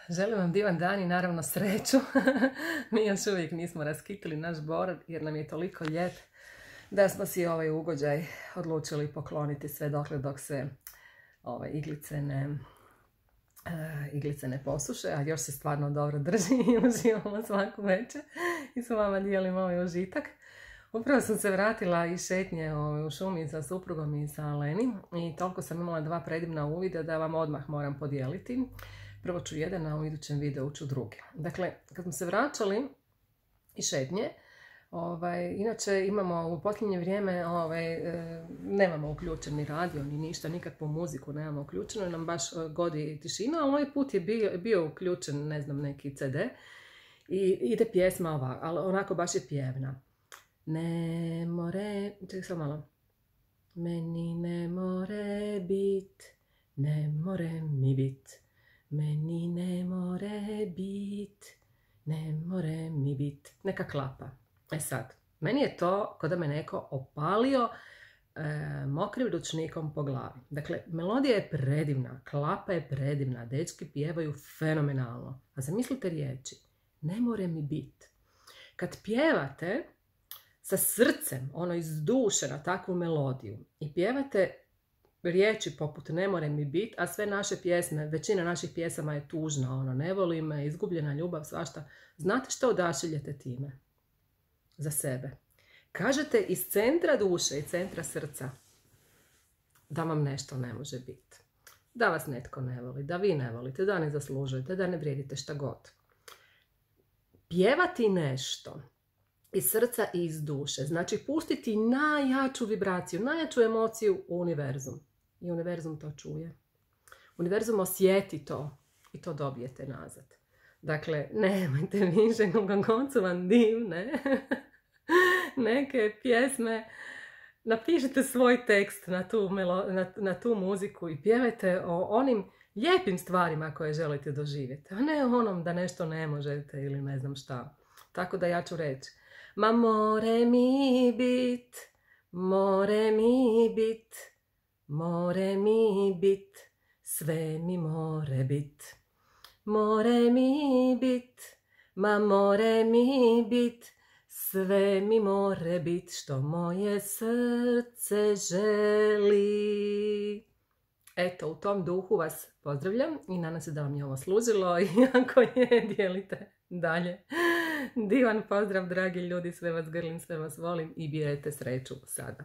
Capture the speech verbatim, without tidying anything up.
Želim vam divan dan i naravno sreću. Mi još uvijek nismo raskitili naš bor jer nam je toliko lijep da smo si ovaj ugođaj odlučili pokloniti sve dokle dok se ovaj, iglice, ne, uh, iglice ne posuše, a još se stvarno dobro drži i uživamo svaku večer i s vama dijelimo ovaj užitak. Upravo sam se vratila iz šetnje u šumi sa suprugom i sa Leni i toliko sam imala dva predivna uvida da vam odmah moram podijeliti. Prvo ću jedan, a u idućem videu ću drugi. Dakle, kad smo se vraćali iz šetnje, ovaj, inače imamo u posljednje vrijeme, ovaj, e, nemamo uključeni radio ni ništa, nikakvu muziku nemamo uključenu, nam baš godi tišina, ali ovaj put je bio, bio uključen, ne znam, neki ce de i ide pjesma ovako, ali onako baš je pjevna. Ne more, čekaj samo malo. Meni ne more bit, ne more mi bit. Meni ne more bit, ne more mi bit. Neka klapa. E sad, meni je to kao da me neko opalio e, mokrim ručnikom po glavi. Dakle, melodija je predivna, klapa je predivna, dečki pjevaju fenomenalno. A zamislite riječi, ne more mi bit. Kad pjevate sa srcem, ono iz duše na takvu melodiju i pjevate riječi poput ne more mi bit, a sve naše pjesme, većina naših pjesama je tužna, ono, ne voli me, izgubljena ljubav, svašta. Znate što odašiljete time? Za sebe. Kažete iz centra duše i centra srca da vam nešto ne može biti. Da vas netko ne voli, da vi ne volite, da ne zaslužujete, da ne vrijedite šta god. Pjevati nešto iz srca i iz duše, znači pustiti najjaču vibraciju, najjaču emociju u univerzum. I univerzum to čuje. Univerzum osjeti to i to dobijete nazad. Dakle, nemojte više na koncu vam divne neke pjesme. Napišite svoj tekst na tu, melo, na, na tu muziku i pjevajte o onim lijepim stvarima koje želite doživjeti. A ne o onom da nešto ne možete ili ne znam šta. Tako da ja ću reći. Ma more mi bit, more mi bit, more mi bit, sve mi more bit. More mi bit, ma more mi bit, sve mi more bit, što moje srce želi. Eto, u tom duhu vas pozdravljam i nadam se da vam je ovo služilo i ako je, dijelite dalje. Divan pozdrav, dragi ljudi, sve vas grlim, sve vas volim i birajte sreću sada.